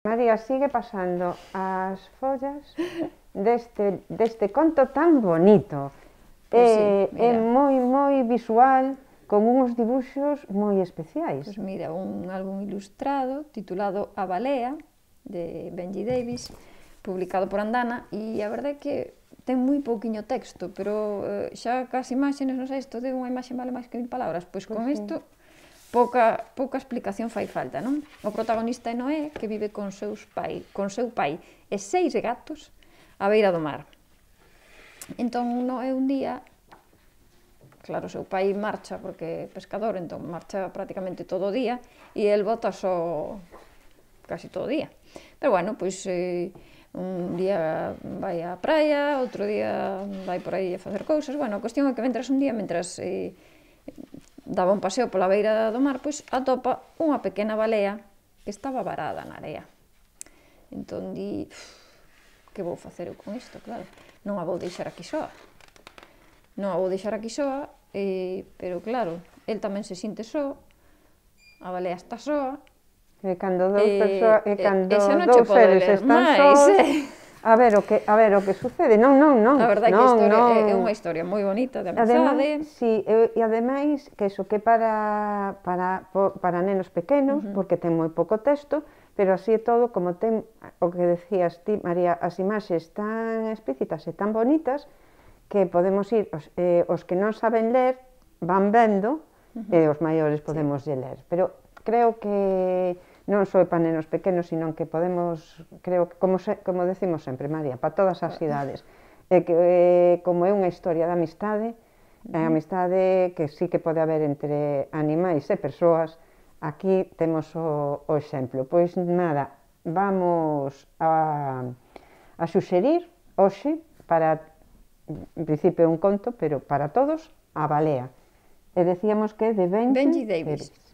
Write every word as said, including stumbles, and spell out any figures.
María, sigue pasando as follas deste, deste conto tan bonito. Pois sí, é, é mira. moi, moi visual, con uns dibuxos moi especiais. Pois mira, un álbum ilustrado titulado A Balea, de Benji Davis, publicado por Andana, e a verdade é que ten moi pouquiño texto, pero eh, xa cas imaxes, non sei, isto de unha imaxe vale máis que mil palabras, pois con Pois sí. isto pouca, pouca explicación fai falta, non? O protagonista é Noé, que vive con, seus pai, con seu pai e seis gatos á beira do mar. Entón, Noé un día, claro, seu pai marcha porque é pescador, entón marcha prácticamente todo o día e el bota só casi todo o día. Pero bueno, pois eh, un día vai á praia, outro día vai por aí a facer cousas. Bueno, a cuestión é que mentras un día, mentras eh, daba un paseo pola beira do mar, pois atopa unha pequena balea que estaba varada na area. Entón di, que vou facer eu con isto, claro, non a vou deixar aquí soa. Non a vou deixar aquí soa, eh, pero claro, el tamén se sinte só, a balea está soa. E cando dous E, persoas, e e, cando e xa non dous che pode seres ler están máis, sós, eh. a ver o que, a ver o que sucede. Non, non, non. A verdade é que non, a historia non. é, é unha historia moi bonita de Ademais, amizade. sí, e, e ademais que iso que para para para nenos pequenos, uh -huh. porque ten moi pouco texto, pero así é todo, como ten o que decías ti, María, as imaxes tan explícitas e tan bonitas que podemos ir, os, eh, os que non saben ler van vendo, uh -huh. e os maiores podemos sí. ler, pero creo que non só para nenos pequenos, sino que podemos, creo que, como, se, como decimos sempre, María, para todas as idades, e que eh, como é unha historia de amistade, uh -huh. a amistade que sí que pode haber entre animais e persoas, aquí temos o, o exemplo. Pois nada, vamos a, a suxerir hoxe, para, en principio é un conto, pero para todos, A Balea. E decíamos que é de Benji, Benji Davis. Davis.